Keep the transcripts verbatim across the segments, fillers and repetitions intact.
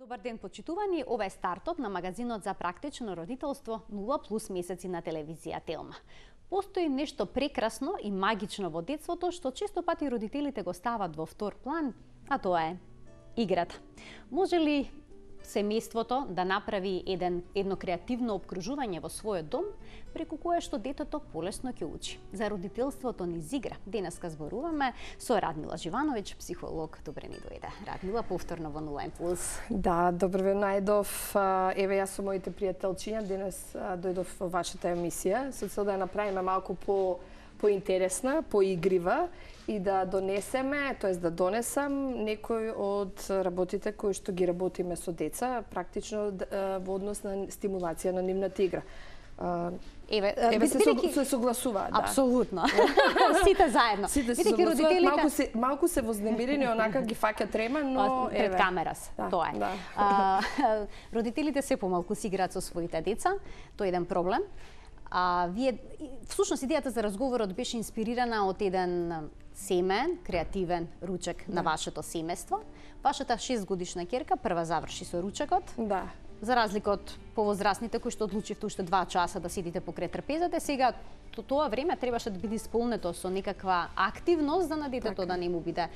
Добар ден, почитувани. Ова е стартот на магазинот за практично родителство нула плюс месеци на телевизија Телма. Постои нешто прекрасно и магично во детството што често пати родителите го стават во втор план, а тоа е играта. Може ли семејството да направи еден, едно креативно обкружување во својот дом, преку кое што детето полесно ќе учи? За родителството низ игра денеска зборуваме со Радмила Живановиќ, психолог. Добре ни дојде. Радмила, повторно во нула плюс. Да, добро ве најдов. Еве, јас со моите пријателчиња денес дојдов во вашата емисија со цел да ја направиме малку по поинтересна, поигрива и да донесеме, тоест да донесам некој од работите кои што ги работиме со деца, практично во однос на стимулација на нивната игра. Еве, Еве се, со, се согласуваат, да. Апсолутно. Сите заедно. Сите се согласуваат, родителите... малку се малку се вознемирени, онака ги фаќа трема, но пред еве. камера се. Да, тоа е. Да. А, родителите се помалку си играат со своите деца, тоа е еден проблем. А вие всушност идејата за разговорот беше инспирирана од еден семеен, креативен ручек да. на вашето семејство. Вашата шестгодишна ќерка прва заврши со ручекот. Да. За разлика од повозрасните кои што одлучивте уште два часа да седите покрај трпезата, сега тоа време требаше да биде исполнето со некаква активност за на детето да не му биде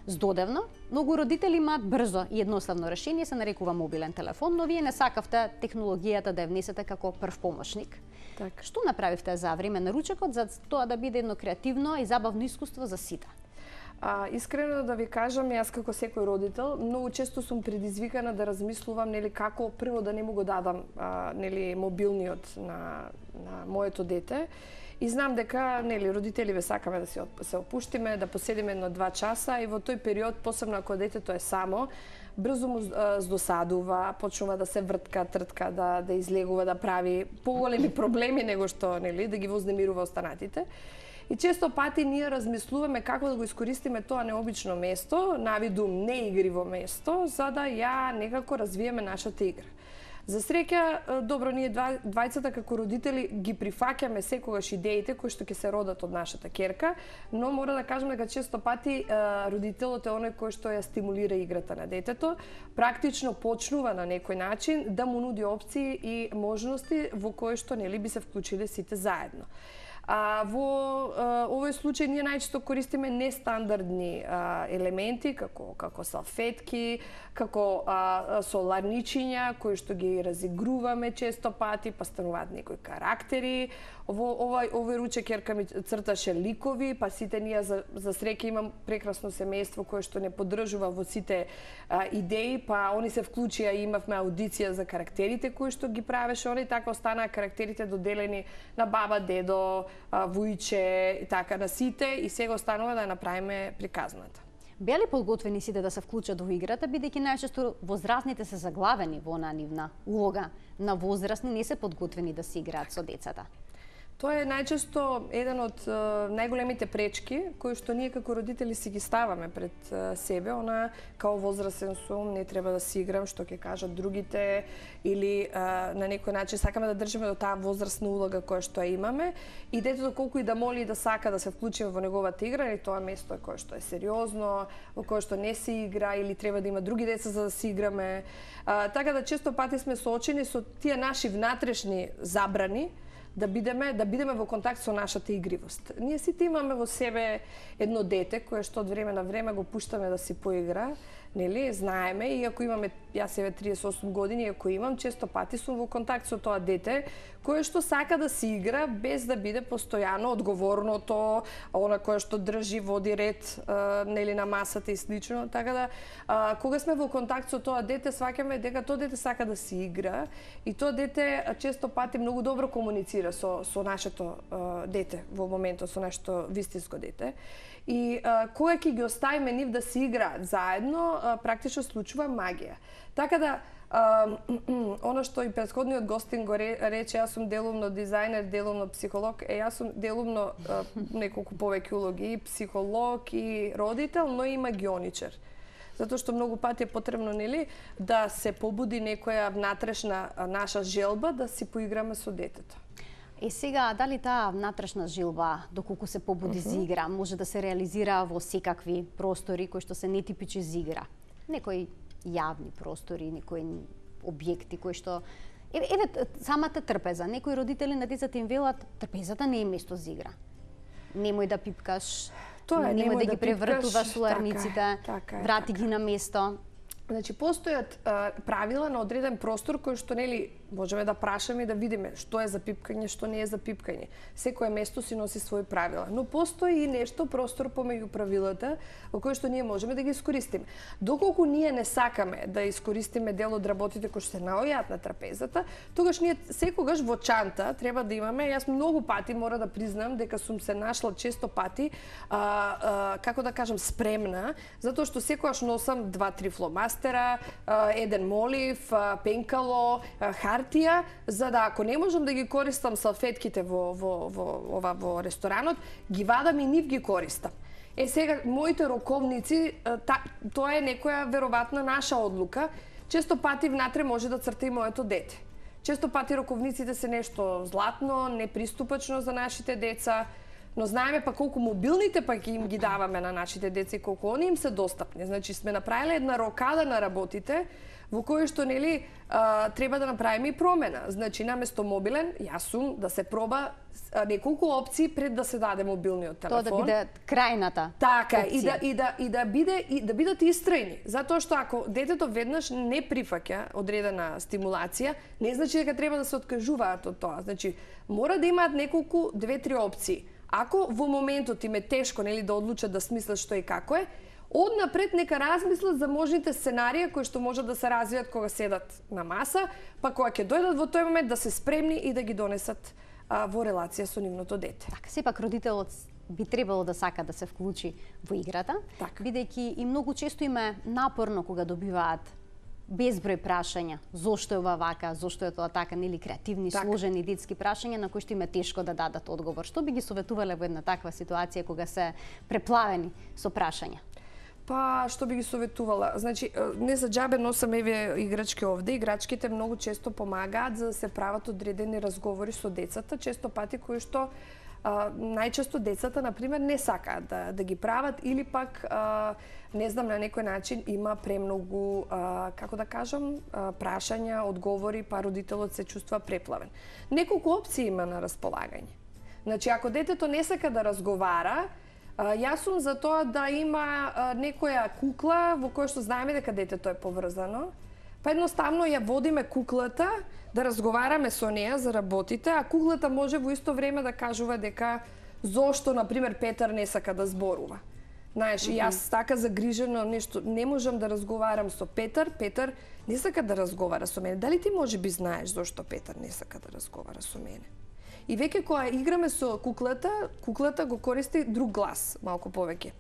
здодевно. Многу родители имаат брзо и едноставно решение, се нарекува мобилен телефон, но вие не сакавте технологијата да ја внесете како прв помошник. Так. Што направивте за време на ручекот за тоа да биде едно креативно и забавно искуство за сите? А, искрено да ви кажам, јас како секој родител, многу често сум предизвикана да размислувам нели како прво да не му го дадам а, нели мобилниот на на моето дете. И знам дека нели родителиве сакаме да се се опуштиме, да поседиме едно-два часа и во тој период, посебно ако детето е само, брзо му здосадува, почнува да се вртка, тртка, да да излегува, да прави поголеми проблеми него што нели да ги вознемирува останатите. И често пати ние размислуваме како да го искористиме тоа необично место, навидум неигриво место, за да ја некако развиеме нашата игра. За среќа, добро, ние два, двајцата како родители ги прифаќаме секогаш идеите кои што ќе се родат од нашата ќерка, но мора да кажам дека често пати родителот е оној кој што ја стимулира играта на детето, практично почнува на некој начин да му нуди опции и можности во кои што нели би се вклучиле сите заедно. А, во а, овој случај ние најчесто користиме нестандардни а, елементи како како салфетки, како а, соларничиња кои што ги разигруваме често пати, па стануваат некои карактери. Во овој овој ручек ќерка ми црташе ликови, па сите ние за за среќа имам прекрасно семејство кое што не поддржува во сите а, идеи, па они се вклучија и имавме аудиција за карактерите кои што ги правеше они, така останаа карактерите доделени на баба, дедо, вујче и така на сите, и сега останува да ја направиме приказната. Беа ли подготвени сите да се вклучат во играта, бидејќи најчесто возрастните се заглавени во онаа нивна улога, на возрастни не се подготвени да се играат со децата? Тоа е најчесто еден од е, најголемите пречки кои што ние како родители си ги ставаме пред е, себе, она као возрастен сум, не треба да си играм, што ќе кажат другите, или е, на некој начин сакаме да држиме до таа возрастна улога која што ја имаме, и детето колку и да моли и да сака да се вклучиме во неговата игра, или тоа место е кое што е сериозно, во кое што не се игра, или треба да има други деца за да се играме. А, така да често пати сме соочени со тие наши внатрешни забрани, да бидеме да бидеме во контакт со нашата игривост. Ние сите имаме во себе едно дете кое што од време на време го пуштаме да си поигра, нели, знаеме, и ако имаме, јас еве триесет и осум години, ако имам, често пати сум во контакт со тоа дете кое што сака да си игра без да биде постојано одговорното, она кое што држи, води ред, нели, на масата и слично. Така да, а, кога сме во контакт со тоа дете, сваќаме дека тоа дете сака да си игра, и тоа дете често пати многу добро комуницира со со нашето а, дете во моментот, со нашето вистинско дете. И а, кога ќе ги оставиме нив да си играат заедно, а, практично случува магија. Така да, а, оно што и претходниот гостин го рече, јас сум делумно дизајнер, делумно психолог, е јас сум делумно а, неколку повеќе улоги, и психолог, и родител, но и магионичар. Затоа што многу пати е потребно, нели, да се побуди некоја внатрешна наша желба да си поиграме со детето. И сега, дали таа внатрешна жилба, доколку се побуди за игра, може да се реализира во секакви простори кои што се нетипични за игра? Некој јавни простори, некои објекти кои што еве, еве самата трпеза. Некои родители на децата им велат трпезата не е место за игра. Немој да пипкаш, Тоа е, немој, немој да, да ги превртуваш уларниците, така, така, врати така. Ги на место. Значи, постојат а, правила на одреден простор кои што, нели, можеме да прашаме и да видиме што е за пипкање, што не е за пипкање. Секое место си носи своји правила. Но постои и нешто, простор помеѓу правилата, во кој што ние можеме да ги искористиме. Доколку ние не сакаме да искористиме дел од работите кои што се наоѓаат на трапезата, тогаш ние секогаш во чанта треба да имаме, јас многу пати мора да признам дека сум се нашла често пати, а, а, како да кажам, спремна, затоа што секогаш носам два-три фломастера, а, еден молив, а, пенкало, а, хартија, за да ако не можам да ги користам салфетките во, во, во, ова, во ресторанот, ги вадам и нив ги користам. Е, сега, моите роковници, та, тоа е некоја веројатна наша одлука. Често пати внатре може да црта и моето дете. Често пати роковниците се нешто златно, неприступачно за нашите деца, но знаеме па колку мобилните пак им ги даваме на нашите деца и колку они им се достапни. Значи, сме направиле една рокада на работите, во кој што, нели, а, треба да направиме и промена. Значи, наместо мобилен, јас сум да се проба а, неколку опции пред да се даде мобилниот телефон. Тоа да биде крајната Така, опција. и да и да и да биде и да бидат истрајни, затоа што ако детето веднаш не прифаќа одредена стимулација, не значи дека треба да се откажуваат од тоа. Значи, мора да имаат неколку две-три опции. Ако во моментот им е тешко, нели, да одлучат да смислат што и како е, однапред нека размислат за можните сценарија кои што можат да се развијат кога седат на маса, па кога ќе дојдат во тој момент да се спремни и да ги донесат а, во релација со нивното дете. Така, сепак родителот би требало да сака да се вклучи во играта, така. Бидејќи и многу често им е напорно кога добиваат безброј прашања. Зошто е ова вака, зошто е тоа така, нели, креативни, така. Сложени детски прашања на кои што им е тешко да дадат одговор. Што би ги советувале во една таква ситуација кога се преплавени со прашања? Па, што би ги советувала? Значи, не за џабе носам еве играчки овде. Играчките многу често помагаат за да се прават одредени разговори со децата, често пати кои што а, најчесто децата, например, не сакаат да, да ги прават или пак, а, не знам, на некој начин има премногу, а, како да кажам, а, прашања, одговори, па родителот се чувствува преплавен. Неколку опции има на располагање. Значи, ако детето не сака да разговара, јас сум за тоа да има некоја кукла во која што знаеме дека детето е поврзано. Па едноставно ја водиме куклата, да разговараме со неа за работите, а куклата може во исто време да кажува дека зошто, например, Петар не сака да зборува. Знаеш, mm -hmm. јас така загрижено нешто не можам да разговарам со Петар, Петар не сака да разговара со мене. Дали ти може би знаеш зошто Петар не сака да разговара со мене? И веќе кога играме со куклата, куклата го користи друг глас, малку повеќе.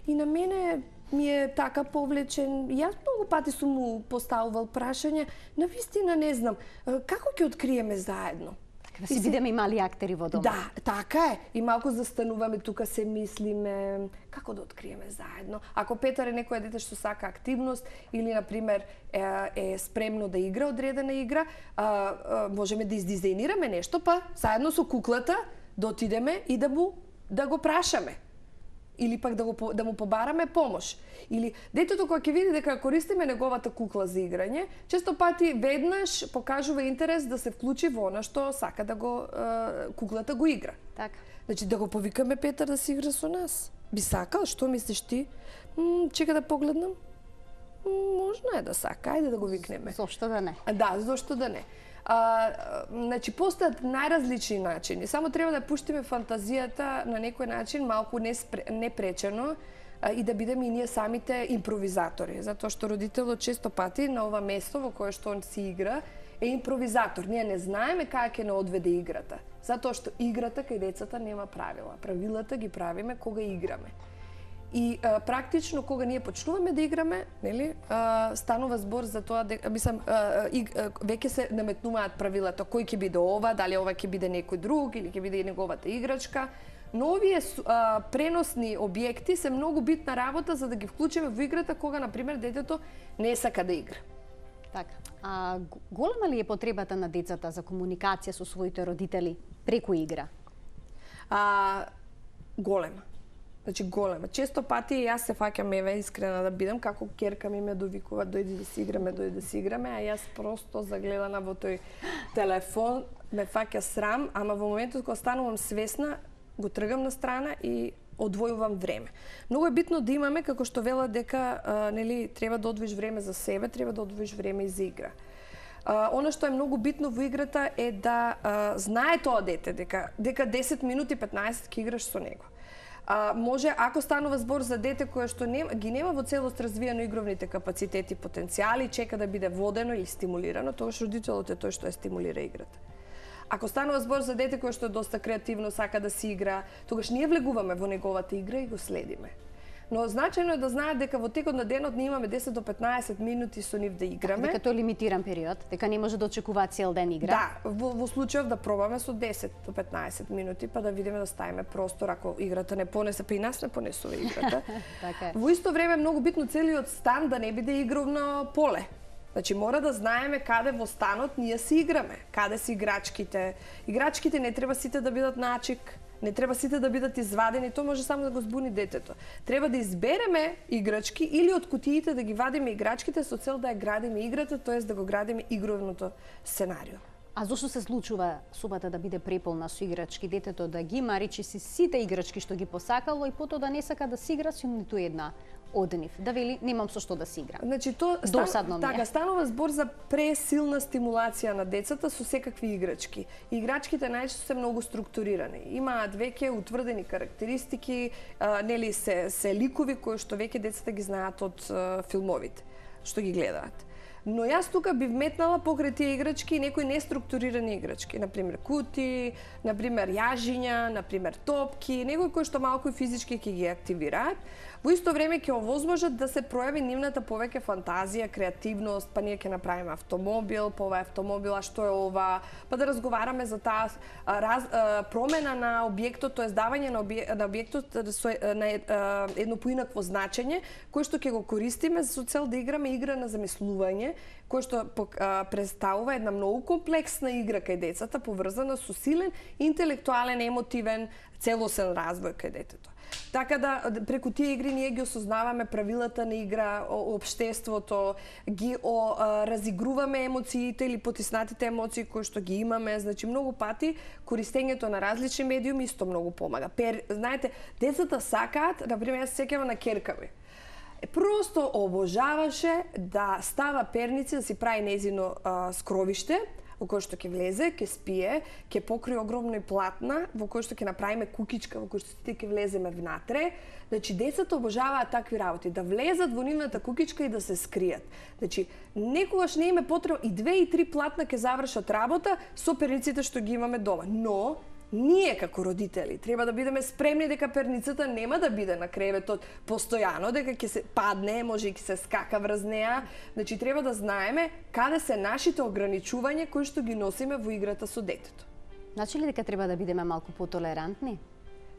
И на мене ми е така повлечен. Јас многу пати сум му поставувал прашања, на вистина не знам, како ќе откриеме заедно? Да си бидеме и мали актери во дома. Да, така е. И малку застануваме тука, се мислиме како да откриеме заедно. Ако Петар е некој дете што сака активност или, например, е, е спремно да игра одредена игра, а, а, можеме да издизајнираме нешто, па заедно со куклата да отидеме и да му да го прашаме. Или пак да, го, да му побараме помош. Или детето кога ќе види дека користиме неговата кукла за играње, често пати веднаш покажува интерес да се вклучи во она што сака да го е, куклата го игра. Така. Значи да го повикаме Петар да си игра со нас. Би сакал, што мислиш ти? М, чека да погледнам. М, можно е да сака, ајде да го викнеме. Зошто да не? Да, зошто да не. А, значи, постојат најразлични начини. Само треба да пуштиме фантазијата на некој начин малку непречено а, и да бидеме и ние самите импровизатори. Затоа што родителот често пати на ова место во кое што он си игра е импровизатор. Ние не знаеме како ќе не одведе играта. Затоа што играта кај децата нема правила. Правилата ги правиме кога играме. И а, практично кога ние почнуваме да играме, нели, а, станува збор за тоа дека мислам а, и, а, веќе се наметнуваат правилата кој ќе биде ова, дали ова ќе биде некој друг или ќе биде неговата играчка. Но овие а, преносни објекти се многу битна работа за да ги вклучиме во играта кога, например, детето не сака да игра. Така. А голема ли е потребата на децата за комуникација со своите родители преку игра? А, голема. Значи голема. Често пати јас се фаќам, еве, искрена да бидам, како ќерка ми ме довикува, дојди да си играме, дојди да си играме, а јас просто загледана во тој телефон, ме фаќа срам, ама во моментот кога станувам свесна, го тргам на страна и одвојувам време. Многу е битно да имаме, како што велат дека а, нели треба да одвоиш време за себе, треба да одвоиш време и за игра. А, она што е многу битно во играта е да а, знае тоа дете дека дека десет минути петнаесет ќе играш со него. А, може, ако станува збор за дете кое што не, ги нема во целост развиено игровните капацитети и потенцијали, чека да биде водено или стимулирано, тогаш родителот е тој што ја стимулира играта. Ако станува збор за дете кое што е доста креативно, сака да си игра, тогаш ние влегуваме во неговата игра и го следиме. Но значајно е да знаат дека во текот на денот ние имаме десет до петнаесет минути со нив да играме. Дека тој е лимитиран период, дека не може да очекува цел ден игра. Да, во, во случајов да пробаме со десет до петнаесет минути, па да видиме да ставиме простор ако играта не понесе, па и нас не понесува играта. Така е. Во исто време е многу битно целиот стан да не биде игровно поле. Значи мора да знаеме каде во станот ние си играме, каде се играчките. Играчките не треба сите да бидат начик, не треба сите да бидат извадени, тоа може само да го збуни детето. Треба да избереме играчки или од кутиите да ги вадиме играчките со цел да ја градиме играта, тоест да го градиме игровното сценарио. А зошто се случува собата да биде преполна со играчки, детето да ги има речи си сите играчки што ги посакало и потоа да не сака да си игра со ниту една од нив, да вели немам со што да си играм. Значи тоа досадно стан, ми е. Така станува збор за пресилна стимулација на децата со секакви играчки. Играчките најчесто се многу структурирани. Имаат веќе утврдени карактеристики, а, нели се се ликови кои што веќе децата ги знаат од а, филмовите што ги гледаат. Но јас тука би вметнала покрај тие играчки некои неструктурирани играчки, например кути, например јажиња, например топки, некои кои што малку и физички ќе ги активираат. Во исто време ќе овозможат да се пројави нивната повеќе фантазија, креативност, па ние ќе направиме автомобил, па ова е автомобил, а што е ова, па да разговараме за таа раз, промена на објектот, тоест давање на, објек, на објектот со на едно поинакво значење, кој што ќе го користиме со цел да играме игра на замислување, кој што представува една многу комплексна игра кај децата, поврзана со силен интелектуален, емотивен, целосен развој кај детето. Така да преку тие игри ние ги осознаваме правилата на игра, општеството, ги о, а, разигруваме емоциите или потиснатите емоции кои што ги имаме, значи многу пати користењето на различни медиуми исто многу помага. Пер, знаете, децата сакаат, например, јас се сеќавам на ќерка ми. Просто обожаваше да става перници, да си прави незино а, скровиште, во кој што ќе влезе, ќе спие, ќе покрие огромни платна, во кој што ќе направиме кукичка, во кој што сите ќе влеземе внатре. Значи, децата обожаваат такви работи, да влезат во нивната кукичка и да се скријат. Значи, некогаш не им е потребно и две и три платна ќе завршат работа со перниците што ги имаме дома. Но, ние како родители треба да бидеме спремни дека перницата нема да биде на креветот постојано, дека ќе се падне, може и ќе се скака врз неа. Значи треба да знаеме каде се нашите ограничувања кои што ги носиме во играта со детето. Значи ли дека треба да бидеме малку потолерантни?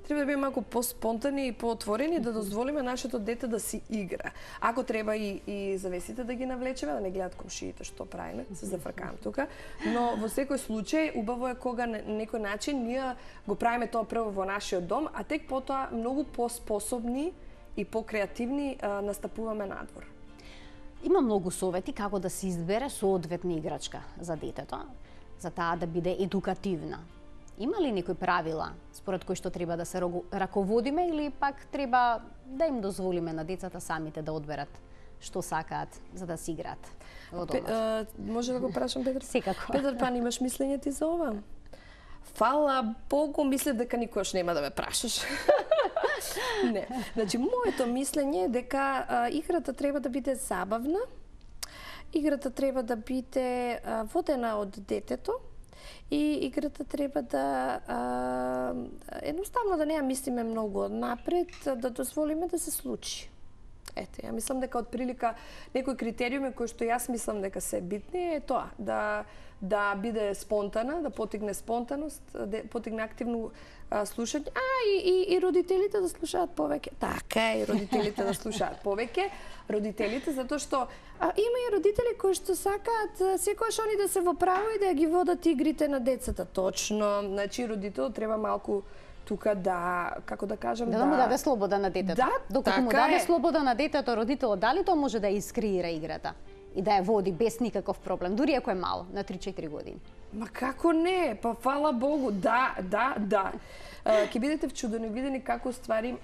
Треба да бидеме малку поспонтани и поотворени, да дозволиме нашето дете да си игра. Ако треба и, и завесите да ги навлечеме, да не гледат комшиите што правиме, се зафркам тука. Но во секој случај, убаво е кога на некој начин ние го правиме тоа прво во нашиот дом, а тек потоа многу поспособни и покреативни настапуваме надвор. Има многу совети како да се избере соодветна играчка за детето, за таа да биде едукативна. Има ли некои правила според кои што треба да се раководиме или пак треба да им дозволиме на децата самите да одберат што сакаат за да си играат во домот? Може да го прашам, Петар? Секако. Петар Пан, имаш мислење ти за ова? Фала Богу, мислев дека никош нема да ме прашаш. Не. Значи, моето мислење е дека а, играта треба да биде забавна, играта треба да биде а, водена од детето, и играта треба да а, едноставно да не ја мислиме многу однапред, да дозволиме да се случи. Ете, ја мислам дека од прилика некои критериуми кои што јас мислам дека се битни е тоа, да да биде спонтана, да потигне спонтаност, да потигне активно а, слушање, а и, и, и родителите да слушаат повеќе. Така е, и родителите да слушаат повеќе. Родителите, затоа што а, има и родители кои што сакаат секогаш они да се во право и да ги водат игрите на децата. Точно, значи родителот треба малку тука да, како да кажам, да, да му даде слобода на детето. Да, докато му така даде е. слобода на детето, родителот дали тоа може да искреира играта и да ја води без никаков проблем, дури ако е мало, на три-четири години. Ма како не? Па фала Богу, да, да, да. Ќе бидете вчудени, видени како ствари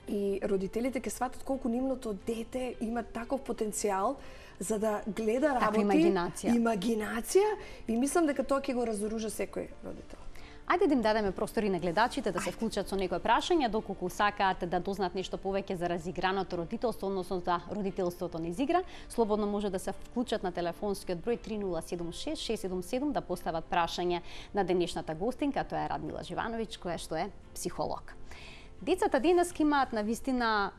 и родителите ќе сватат колку нивното дете има таков потенцијал за да гледа работи, таква имагинација. Имагинација и мислам дека тоа ќе го разоружа секој родител. Ајде да им дадеме простори на гледачите да се вклучат со некои прашања, доколку сакаат да дознаат нешто повеќе за разиграното родителство, односно за родителството низ игра, слободно може да се вклучат на телефонскиот број три нула седум шест шест седум седум да постават прашање на денешната гостинка, тоа е Радмила Живановиќ, која што е психолог. Децата денеска имаат навистина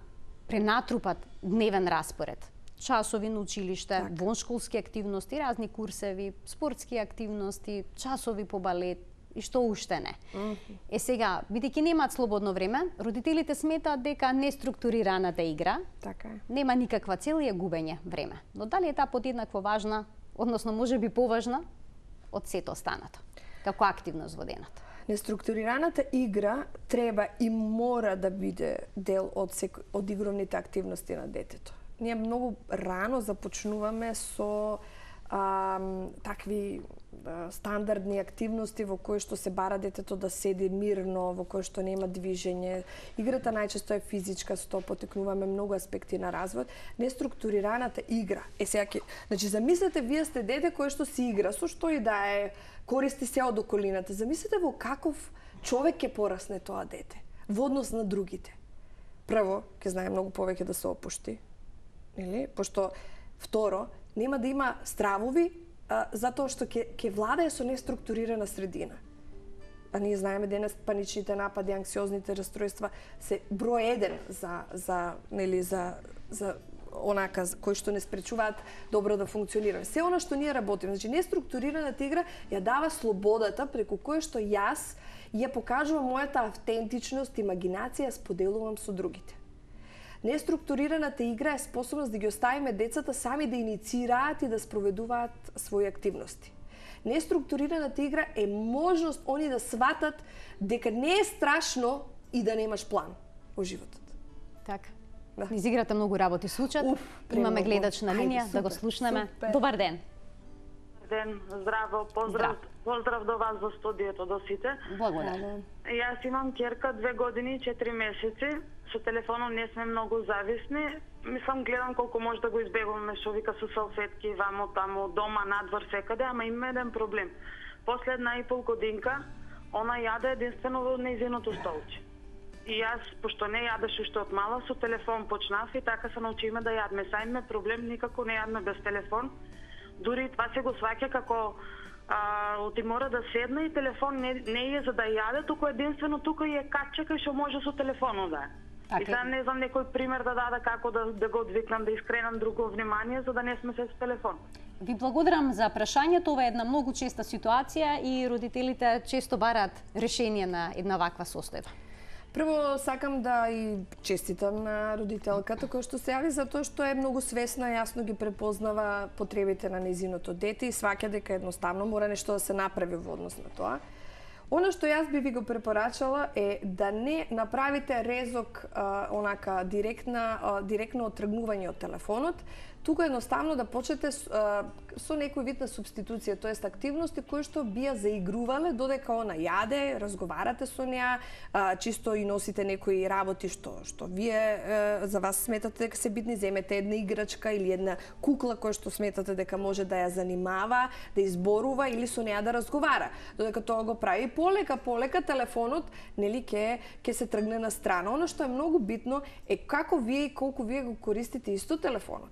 пренатрупат дневен распоред. Часови на училиште, так. воншколски активности, разни курсеви, спортски активности, часови по балет и што уште не. Mm -hmm. Е сега, бидејќи немаат слободно време, родителите сметаат дека неструктурираната игра така е. Нема никаква цел и е губење време. Но дали е таа подеднакво важна, односно може би поважна од сето останато, како активност во денот? Неструктурираната игра треба и мора да биде дел од, сек... од игровните активности на детето. Ние многу рано започнуваме со а, такви а, стандардни активности во кои што се бара детето да седи мирно, во кои што нема движење. Играта најчесто е физичка, со тоа потекнуваме многу аспекти на развој. Неструктурираната игра. Е сега ќе, значи замислете вие сте дете кое што си игра, со што и да е, користи се од околината. Замислете во каков човек ќе порасне тоа дете во однос на другите. Прво, ќе знае многу повеќе да се опушти. Или? Пошто, второ, нема да има стравови, а, затоа што ќе ќе владае со неструктурирана средина. А ние знаеме денес паничните напади, анксиозните расстройства се број еден за за нели за за онака кои што не спречуваат добро да функционира. Се она што ние работиме, значи неструктурираната игра ја дава слободата преку која што јас ја покажувам мојата автентичност, имагинација, споделувам со другите. Неструктурираната игра е способност да ги оставиме децата сами да иницираат и да спроведуваат своји активности. Неструктурираната игра е можност они да сватат дека не е страшно и да немаш план во животот. Така. Да. Низ играта многу работи случат. Уф, имаме гледач на линија, ајде, да го слушнеме. Супер. Добар ден. Ден, здраво, поздрав, Здрав. поздрав до вас во студиото, до сите. Благодарам. Јас имам ќерка две години и четири месеци. Со телефонот не сме многу зависни. Мислам, гледам колку може да го избегуваме, што вика со салфетки, вамо, тамо, дома, надвор, секаде, ама има еден проблем. После една и пол годинка, она јаде единствено во нејзиното столче. И јас, пошто не јадеш уште од мала, со телефон почнав и така се научиме да јадме. Са име проблем, никако не јадме без телефон. Дури това се го сваќа како а, ти мора да седне и телефон не, не е за да јаде, туку единствено тука е каче кај што може со телефонот да е. И сега не знам некој пример да даде како да, да го одвикнам, да искренам друго внимание, за да не сме се со телефон. Ви благодарам за прашањето. Ова е една многу честа ситуација и родителите често бараат решение на една ваква состојба. Прво сакам да и честитам на родителката која што се јави затоа што е многу свесна, јасно ги препознава потребите на нејзиното дете и сваќа дека едноставно мора нешто да се направи во однос на тоа. Оно што јас би ви го препорачала е да не направите резок а, онака директна а, директно отргнување од телефонот, туку едноставно да почнете а, со некој вид на субституција, тоест активности кои што би ја заигрувале додека она јаде, разговарате со неа, а, чисто и носите некои работи што што вие а, за вас сметате дека се битни, земете една играчка или една кукла која што сметате дека може да ја занимава, да изборува или со неа да разговара. Додека тоа го прави полека полека телефонот нели ќе ќе се тргне на страна. Она што е многу битно е како вие и колку вие го користите исто телефонот.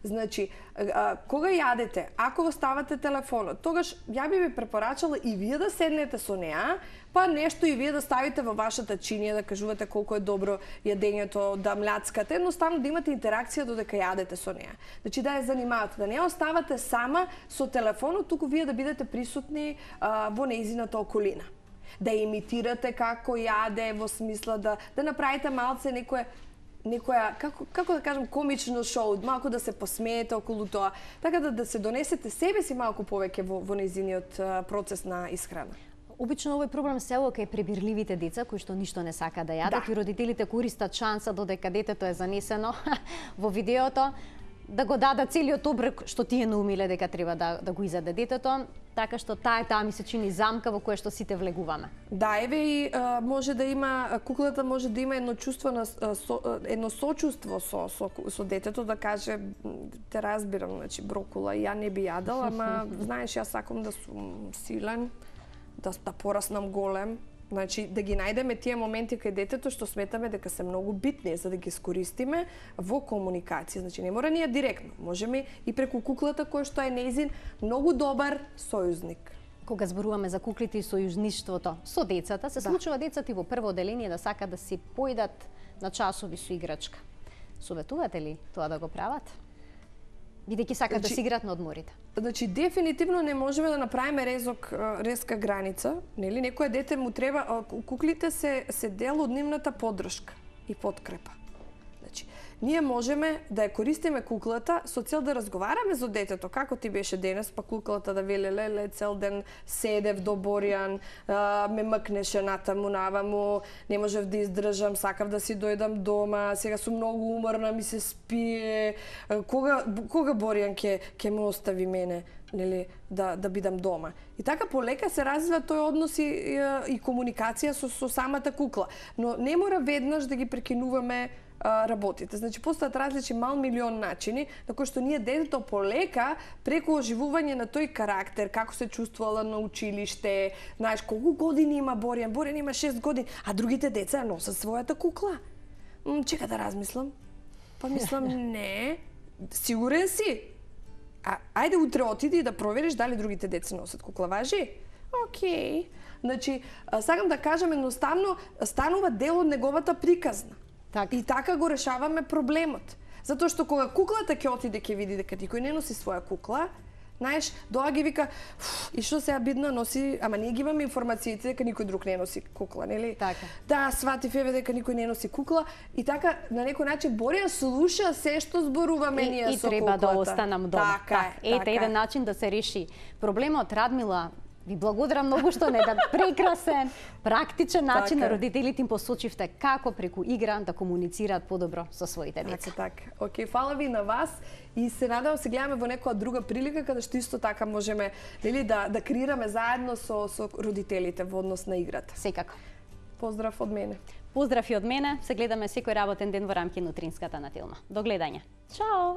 Значи, а, кога јадете, ако го ставате телефонот, тогаш ја би ви препорачала и вие да седнете со неа, па нешто и вие да ставите во вашата чинија, да кажувате колку е добро јадењето, да мљацкате, едноставно да имате интеракција додека јадете со неа. Значи да ја занимавате, да не оставате сама со телефонот, туку вие да бидете присутни а, во нејзината околина. Да имитирате како јаде, во смисла да да направите малце некое некоја, како, како да кажам, комично шоу, малку да се посмеете околу тоа, така да, да се донесете себе си малку повеќе во, во нејзиниот процес на исхрана. Обично овој проблем се ока кај пребирливите деца кои што ништо не сака да јадат Да. и родителите користат шанса додека детето е занесено во видеото да го дадат целиот оброк што тие наумиле дека треба да, да го изаде детето, така што таа таа ми се чини замка во која што сите влегуваме. Да, еве и а, може да има, куклата може да има едно чувство на а, со, едно сочувство со, со, со детето, да каже те разбирам, значи брокула ја не би јадала, ама знаеш јас сакам да сум силен, да да пораснам голем. Значи, да ги најдеме тие моменти кај детето што сметаме дека се многу битни за да ги искористиме во комуникација. Значи, не мора ние директно, можеме и преку куклата која што е нејзин многу добар сојузник. Кога зборуваме за куклите и сојузништвото со децата, се Да. случува децата и во прво оделение да сакат да си појдат на часови со играчка. Советувате ли тоа да го прават? Бидејќи сакат да Значи- си играат на одморите. Значи, дефинитивно не можеме да направиме резок, резка граница, нели? Некој дете му треба, а, куклите се се дел од нивната поддршка и подкрепа. Значи, ние можеме да ја користиме куклата со цел да разговараме со детето, како ти беше денес, па куклата да вели леле цел ден седев до Боријан, а, ме мкнеше натаму наваму, не можев да издржам, сакав да си дојдам дома, сега сум многу уморна, ми се спие, а, кога кога Боријан ќе ќе ме остави мене, нели, да да бидам дома. И така полека се развива тој однос и, и, и комуникација со со самата кукла, но не мора веднаш да ги прекинуваме а, работите. Значи, постојат различни мал милион начини на кои што ние детето полека преку оживување на тој карактер, како се чувствувала на училиште, знаеш колку години има Боријан, Боријан има шест години, а другите деца ја носат својата кукла. М, чека да размислам. Па мислам, не, сигурен си? А, ајде утре отиди да провериш дали другите деца носат кукла, важи? Океј. Значи, а, сакам да кажам едноставно, станува дел од неговата приказна. Така. И така го решаваме проблемот. Затоа што кога куклата ќе отиде ќе види дека никој не носи своја кукла, знаеш, доа ги вика, и што сега бидно носи, ама ние ги имаме информациите дека никој друг не носи кукла, нели? Така. Да, сватив еве дека никој не носи кукла и така на некој начин Боријан слуша се што зборуваме И, ние и со треба куклата. да останам дома. Така е, Ете така еден е. начин да се реши проблемот. Радмила, ви благодарам многу што на еден прекрасен, практичен начин Така на е. родителите им посочивте како преку игра да комуницираат подобро со своите деца. Така, така. Океј, фала ви на вас и се надевам се гледаме во некоја друга прилика каде што исто така можеме, нели, да да креираме заедно со со родителите во однос на играта. Секако. Поздрав од мене. Поздрав и од мене. Се гледаме секој работен ден во рамки на утринската на Телма. До гледање. Чао!